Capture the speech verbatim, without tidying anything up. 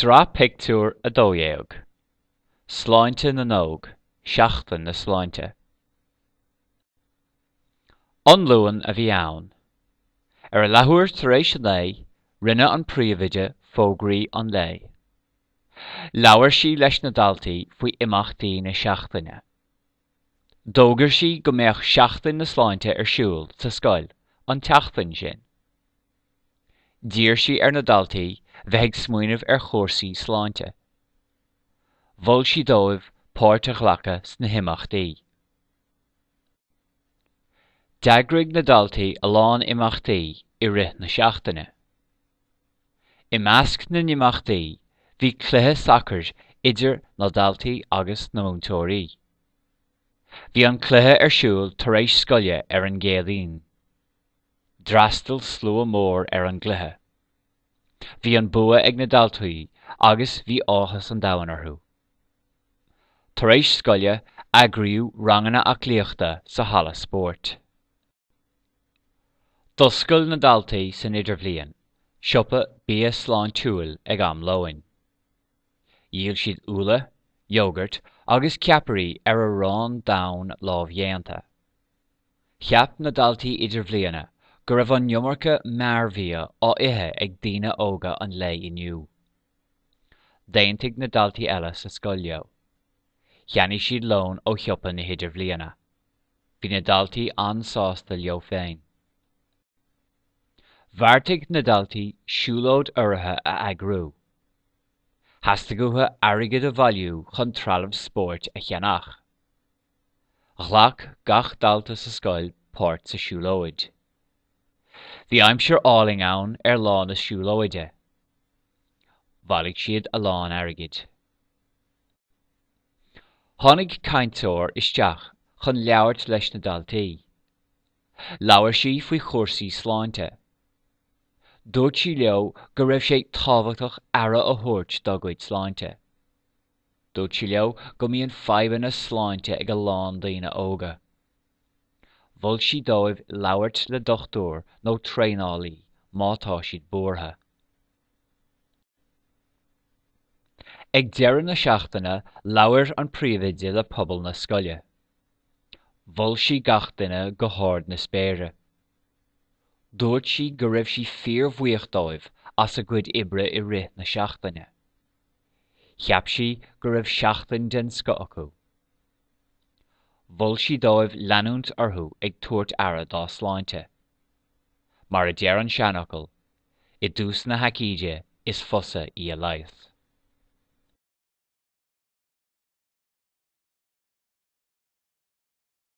Sraith pictiúr a dó dhéag. Sláinte na nÓg, Seachtain na Sláinte. An Luan a bhí ann. Ar a leathuair tar éis a naoi, rinne an príomhoide fógraí an lae. Labhair sí leis na daltaí faoi imeachtaí na seachtaine. D'fhógair sí go mbeadh Seachtain na Sláinte ar siúl sa scoil an tseachtain sin. D'iarr sí ar na daltaí bheith ag smaoineamh ar chúrsaí sláinte. Mhol sí dóibh páirt a ghlacadh sna himeachtaí. D'eagraigh na daltaí a lán imeachtaí i rith na seachtaine. I measc na n-imeachtaí bhí cluiche sacair idir na daltaí agus na múinteoirí. Bhí an cluiche ar siúl tar éis scoile ar an gCéadaoin. D'fhreastail slua mór ar an gcluiche. Bhí an bua ag na daltaí agus bhí áthas an domhain orthu. Tar éis scoile eagraíodh ranganna aclaíochta sa halla spóirt. D'oscail na daltaí san idirbhliain, siopa bia sláintiúil ag am lóin. Dhíol siad úlla, iógart agus ceapairí ar arán donn lámhdhéanta. Cheap na daltaí idirbhliana go raibh an iomarca mearbhia á ithe ag daoine óga an lae inniu. D'aontaigh na daltaí eile sa scoil leo. Cheannaigh siad lón ó shiopa na hidirbhliana. Bhí na daltaí an-sásta leo féin. Bheartaigh na daltaí siúlóid urraithe a eagrú. Theastaigh uathu airgead a bhailiú chun trealamh spóirt a cheannach. Ghlac gach dalta sa scoil páirt sa siúlóid. Bhí aimsir álainn ann ar lá na siúlóide. Bhailigh siad a lán airgid. Tháinig cainteoir isteach chun labhairt leis na daltaí. Labhair sí faoi chúrsaí sláinte. Dúirt sí leo go raibh sé tábhachtach aire a thabhairt dá gcuid sláinte. Dúirt sí leo go mbíonn fadhbanna sláinte ag a lán daoine óga. Mhol sí dóibh labhairt le dochtúir nó traenálaí má tá siad buartha. Ag deireadh na seachtaine labhair an príomhoide le pobal na scoile. Mhol sí gach duine go hard na spéire. Dúirt sí go raibh sí fíorbhuíoch dóibh as a gcuid oibre i rith na seachtaine. Cheap sí go raibh seachtain den scoth acu. Mhol sí dóibh leanúint orthu ag tabhairt aire dá sláinte. Mar a deir an seanfhocal, i dtús na haicíde is fusa í a leigheas.